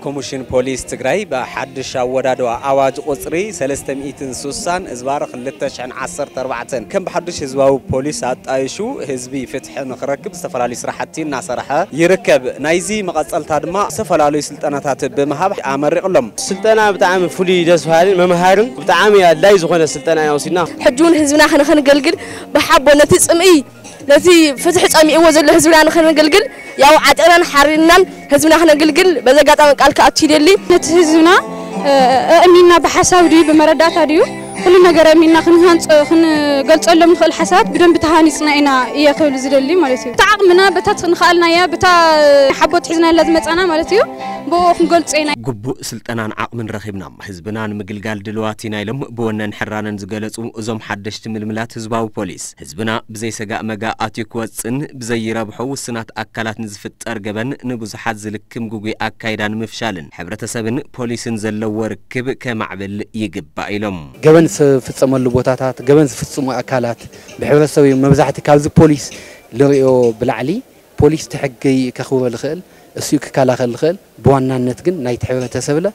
ኮሚሽን ፖሊስ ትግራይ ብሓድሽ ኣወዳድባ ኣዋጅ ቁፅሪ ሰለስተ ሚእትን ስሳን እዝባር ክልተ ሽሕን ዓሰርተ ኣርባዕተን ከም ብሓድሽ ህዝባዊ ፖሊስ ኣጣይሹ ህዝቢ ፍትሒ ንክረክብ ዝተፈላለዩ ስራሕቲ እናሰርሐ ይርከብ። ናይዚ መቐፀልታ ድማ ዝተፈላለዩ ስልጠናታት ብምሃብ ኣመሪቕሎም። ስልጠና ብጣዕሚ ፍሉይ ደስ በሃልን መምሃርን ብጣዕሚ ኣድላይ ዝኾነ ስልጠና ኢና ወሲድና። ሕጂ እውን ህዝብና ንኸነገልግል ብሓቦ ነቲ ፅምኢ ነቲ ፍትሒ ጸሚእዎ ዘሎ ህዝብና ንኸነገልግል ያው ዓጢቕናን ሓሪንናን ህዝብና ክነገልግል በዚ ኣጋጣሚ ቃል ክኣቱ ይደሊ። ነቲ ህዝብና ኣእሚንና ብሓሳብ ድዩ ብመረዳእታ ድዩ ኩሉ ነገር ኣእሚንና ክንሃንጾ ክንገልጸሎም ንኽእል ሓሳባት ብደንቢ ተሃኒጽና ኢና እየ ክብል ዝደሊ ማለት እዩ። ብታ ዓቕምና በታ ንኽኣልናያ በታ ሓቦት ሒዝናላ ዝመጻና ማለት እዩ ብኡ ክንገልጾ ኢና። ግቡእ ስልጠናን ዓቕምን ረኺብና ህዝብና ንምግልጋል ድልዋት ኢና ኢሎም ብወነን ሕራነን ዝገለጹ እዞም ሓደሽቲ ምልምላት ህዝባዊ ፖሊስ ህዝብና ብዘይሰጋእ መጋእ ኣትዩ ክወጽን ብዘይረብሖ ውስናት ኣካላት ንዝፍጠር ገበን ንብዙሓት ዝልክም ግጉይ ኣካይዳ ንምፍሻልን ሕብረተሰብን ፖሊስን ዘለዎ ርክብ ከማዕብል ይግባእ ኢሎም። ገበን ዝፍጸመሉ ቦታታት፣ ገበን ዝፍጽሙ ኣካላት ብሕብረተሰብ እዩ። መብዛሕቲ ካብዚ ፖሊስ ልሪኦ ብላዕሊ ፖሊስ እቲ ሕጊ ከኽብሮ ዝኽእል እሱ ክከላኸል ዝኽእል ብዋናነት ግን ናይቲ ሕብረተሰብለ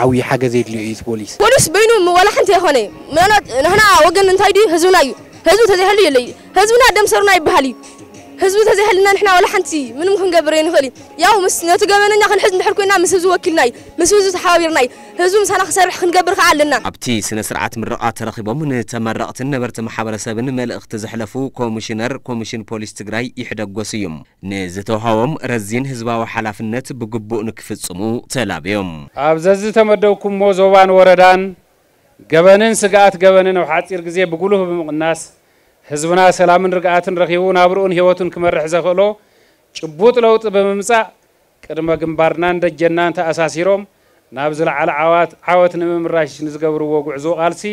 ዓብዪ ሓገዝ የድልዮ እዩ እቲ ፖሊስ። ፖሊስ በይኑ ዋላ ሓንቲ ኣይኮነ ምናልባት ንሕና ወገን እንታይ ድዩ ህዝብና እዩ። ህዝቢ ተዘይህሉ የለይ ህዝብና ደም ሰሩና ይበሃል እዩ። ህዝቢ ተዘይህልና ንሕና ዋላ ሓንቲ ምንም ክንገብር ኣይንኽእል እዩ። ያው ምስ ነቲ ገበነኛ ክንሕዝ እንድሕር ኮይና ምስ ህዝቢ ወኪልና እዩ ምስ ህዝቢ ተሓባቢርና እዩ። ህዝቢ ምሳና ክሰርሕ ክንገብር ከዓ ኣለና። ኣብቲ ስነ ስርዓት ምረቓ ተረኺቦም ንተመረቕትን ነበርቲ ማሕበረሰብን መልእኽቲ ዘሕለፉ ኮሚሽነር ኮሚሽን ፖሊስ ትግራይ ይሕደጎስ እዮም። ንዝተውሃቦም ረዚን ህዝባዊ ሓላፍነት ብግቡእ ንክፍጽሙ ተላብዮም። ኣብ ዘዝተመደብኩሞ ዞባን ወረዳን ገበንን ስግኣት ገበንን ኣብ ሓጺር ግዜ ብጉሉህ ብምቕናስ ህዝብና ሰላምን ርግኣትን ረኺቡ ናብርኡን ህይወቱን ክመርሕ ዘኽእሎ ጭቡጥ ለውጢ ብምምጻእ ቅድመ ግንባርናን ደጀናን ተኣሳሲሮም ናብ ዝለዓለ ዓዋት ዓወት ንምምራሽ ንዝገብርዎ ጉዕዞ ቃልሲ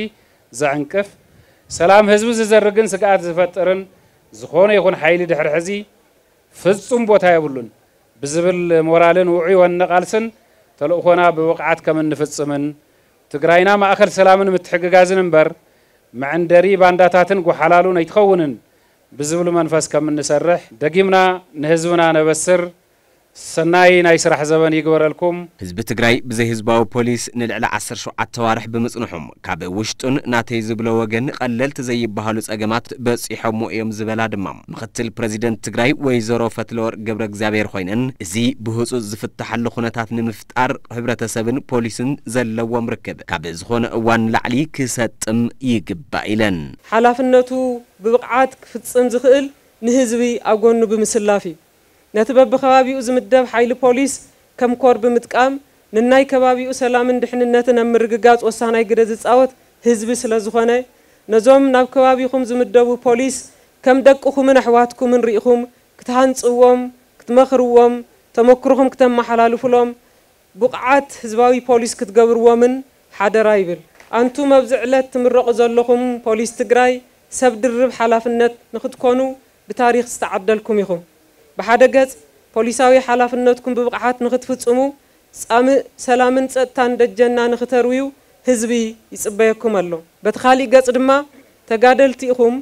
ዘዕንቅፍ ሰላም ህዝቢ ዝዘርግን ስግኣት ዝፈጥርን ዝኾነ ይኹን ሓይሊ ድሕሪ ሕዚ ፍጹም ቦታ የብሉን ብዝብል ሞራልን ውዑይ ወነ ቃልስን ተልእኾና ብብቕዓት ከም እንፍጽምን ትግራይና ማእኸል ሰላምን ምትሕግጋዝን እምበር መዐንደሪ ባንዳታትን ጎሓላሉን ኣይትኸውንን ብዝብል መንፈስ ከም እንሰርሕ ደጊምና ንህዝብና ነበስር። ሰናይ ናይ ስራሕ ዘበን ይግበረልኩም። ህዝቢ ትግራይ ብዘይ ህዝባዊ ፖሊስ ንልዕሊ ዓሰርተ ሸውዓተ ኣዋርሕ ብምጽንሖም ካብ ውሽጡን ናተይ ዝብሎ ወገን ቀለልቲ ዘይበሃሉ ጸገማት በጺሖሞ እዮም ዝበላ ድማ ምኽትል ፕረዚደንት ትግራይ ወይዘሮ ፈትለወርቅ ገብረ እግዚኣብሔር ኮይነን እዚ ብህጹጽ ዝፍተሓሉ ኩነታት ንምፍጣር ሕብረተሰብን ፖሊስን ዘለዎም ርክብ ካብ ዝኾነ እዋን ንላዕሊ ክሰጥም ይግባእ ኢለን። ሓላፍነቱ ብብቕዓት ክፍጽም ዝኽእል ንህዝቢ ኣብ ጎኑ ብምስላፍ እዩ። ነቲ በብኸባቢኡ ዝምደብ ሓይሊ ፖሊስ ከም ኮር ብምጥቃም ንናይ ከባቢኡ ሰላምን ድሕንነትን ኣብ ምርግጋፅ ወሳናይ ግደ ዝፃወት ህዝቢ ስለዝኾነ ነዞም ናብ ከባቢኹም ዝምደቡ ፖሊስ ከም ደቅኹምን ኣሕዋትኩምን ርኢኹም ክትሃንፅዎም፣ ክትመኽርዎም፣ ተመክሮኹም ክተመሓላልፉሎም ብቑዓት ህዝባዊ ፖሊስ ክትገብርዎምን ሓደራ ይብል። ኣንቱም ኣብዚ ዕለት ትምረቑ ዘለኹም ፖሊስ ትግራይ ሰብ ድርብ ሓላፍነት ንኽትኮኑ ብታሪኽ ዝተዓደልኩም ኢኹም። ብሓደ ገፅ ፖሊሳዊ ሓላፍነትኩም ብብቕዓት ንኽትፍፅሙ ፃምእ ሰላምን ፀጥታን ደጀንና ንኽተርውዩ ህዝቢ ይፅበየኩም ኣሎ። በቲ ካሊእ ገፅ ድማ ተጋደልቲ ኢኹም።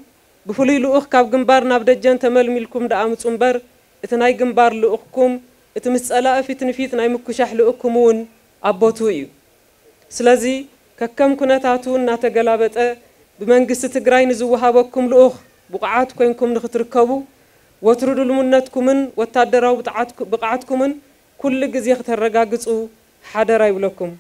ብፍሉይ ልኡኽ ካብ ግንባር ናብ ደጀን ተመልሚልኩም ደኣ ምፁ እምበር እቲ ናይ ግንባር ልኡኽኩም እቲ ምስ ፀላኢ ፊት ንፊት ናይ ምኩሻሕ ልኡኽኩም እውን ኣብ ቦትኡ እዩ። ስለዚ ከከም ኩነታቱ እናተገላበጠ ብመንግስቲ ትግራይ ንዝወሃበኩም ልኡኽ ብቑዓት ኮይንኩም ንኽትርከቡ ወትሩ ድልውነትኩምን ወታደራዊ ብቕዓትኩምን ኩሉ ግዜ ክተረጋግፁ ሓደራ ይብለኩም።